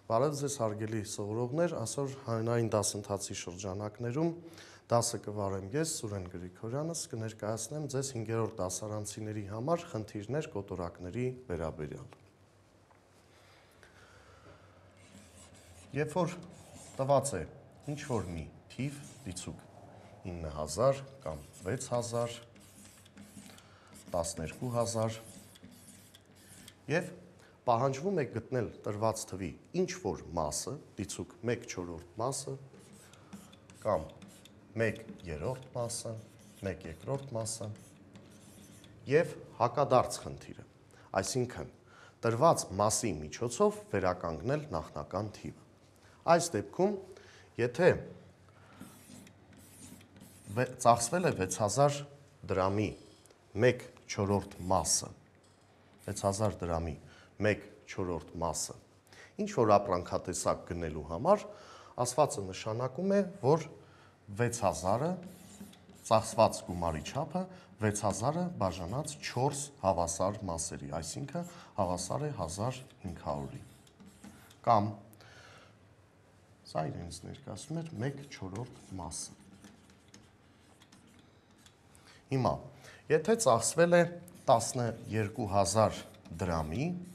Բարև ձեզ հարգելի սովորողներ, այսօր հանրային դասընթացի շրջանակներում դասը կվարեմ ես, Սուրեն Գրիգորյանս, կներկայացնեմ ձեզ 5-րդ դասարանցիների համար խնդիրներ կոտորակների վերաբերյալ։ Երբ որ տված է ինչ-որ մի թիվ, դիցուկ 9000 կամ 6000, 12000 և պահանջվում է գտնել տրված թվի ինչ-որ մասը, դիցուկ 1/4 մասը, կամ 1/3 մասը, 1/2 մասը և հակադարձ խնդիրը, այսինքն տրված մասի միջոցով վերականգնել նախնական թիվը։ Այս դեպքում, եթե ծախսվել է 6000 դրամի 1/4 մասը, 6000 դրամի 1/4 մասը, ինչ-որ ապրանքատեսակ գնելու համար, ասվածը նշանակում է, որ 6000-ը, ծախսված գումարի չափը, 6000-ը բաժանած 4 հավասար մասերի, այսինքն հավասար է 1500-ի, կամ, սա իրենից ներկայացնում էր 1/4 մասը։ Հիմա, եթե ծախսվել է 12000 դրամի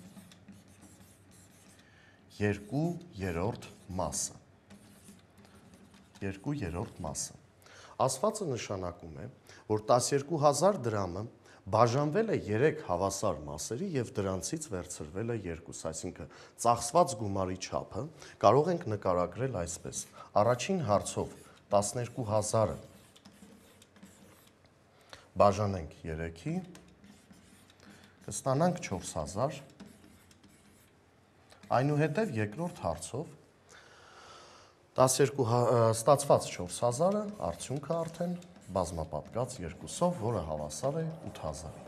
2/3 մասը, 2/3 մասը, ասվածը նշանակում է, որ 12000 դրամը բաժանվել է 3 հավասար մասերի և դրանցից վերցրվել է 2, այսինքն ծախսված գումարի չափը կարող ենք նկարագրել այսպես. առաջին հարցով 12000-ը բաժանենք 3-ի, կստանանք 4000, այնուհետև երկրորդ հարցով ստացված 4000-ը արդյունքը արդեն բազմապատկած 2-ով, որը հավասար է 8000-ի։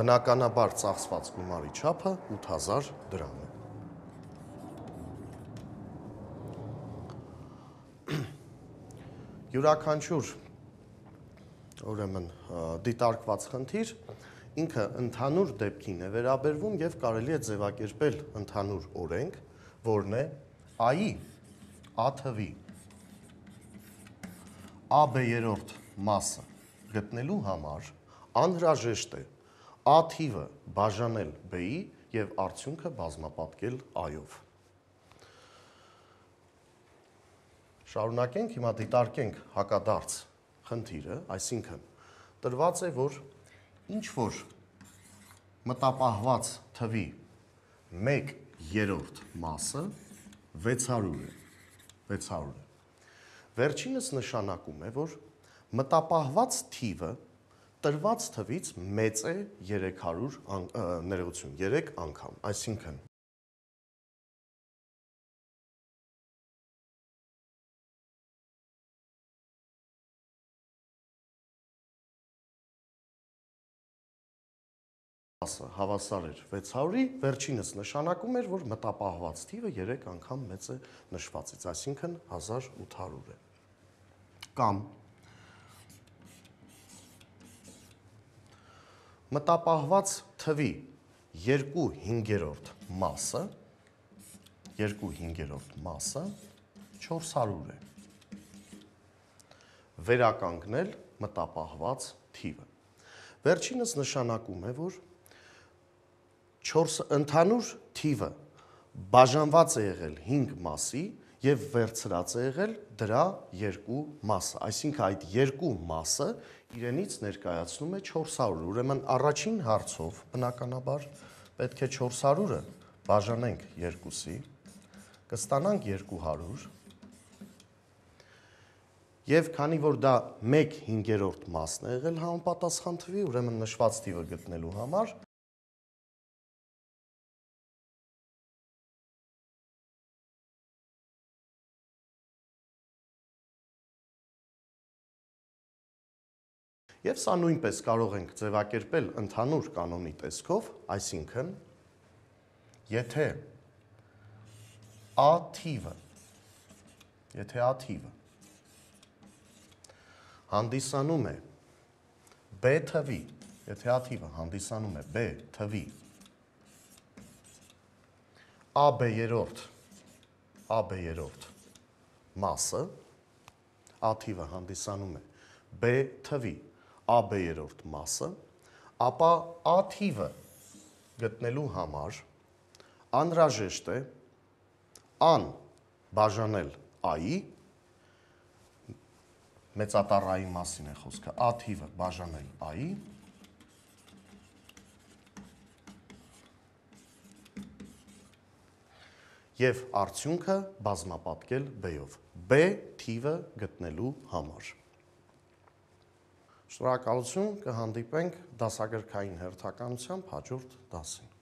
Բնականաբար ծախսված գումարի չափը 8000 դրամ է։ Յուրաքանչյուր ուրեմն դիտարկված խնդիր ինքը ընդհանուր դեպքին է վերաբերվում և կարելի է ձևակերպել ընդհանուր օրենք, որն է A-ի A թվի A/B-րդ մասը գտնելու համար անհրաժեշտ է A թիվը բաժանել B-ի և արդյունքը բազմապատկել A-ով։ Շարունակենք, հիմա դիտարկենք հակադարձ խնդիրը, այսինքն տրված է, որ ինչ-որ մտապահված թվի 1/3 մասը 600 է։ Վերջինս նշանակում է, որ մտապահված թիվը տրված թվից մեծ է 3 անգամ, այսինքն հավասար էր 600-ի, վերջինս նշանակում էր, որ մտապահված թիվը 3 անգամ մեծ է նշվածից, այսինքն 1800 է։ Կամ մտապահված թվի 2/5 մասը 400 է։ Վերականգնել մտապահված թիվը։ Վերջինս նշանակում է, որ ընդհանուր թիվը բաժանված է եղել 5 մասի և վերցրած է եղել դրա 2 մասը, այսինքն այդ 2 մասը իրենից ներկայացնում է 400, ուրեմն առաջին հարցով բնականաբար պետք է 400-ը բաժանենք 2-ի, կստանանք 200, և քանի որ դա 1/5 մասն է եղել համապատասխան թվի, ուրեմն նշված թիվը գտնելու համար և սա նույնպես կարող ենք ձևակերպել ընդհանուր կանոնի տեսքով, այսինքն, եթե A թիվը հանդիսանում է B թվի AB-երորդ մասը, A թիվը հանդիսանում է B թվի AB-երորդ մասը, ապա A թիվը գտնելու համար անհրաժեշտ է A-ն բաժանել A-ի, մեծատառ A-ի մասին է խոսքը, A թիվը բաժանել A-ի, և արդյունքը բազմապատկել B-ով, B թիվը գտնելու համար։ Շնորհակալություն, կհանդիպենք դասագրքային հերթականությամբ հաջորդ դասին։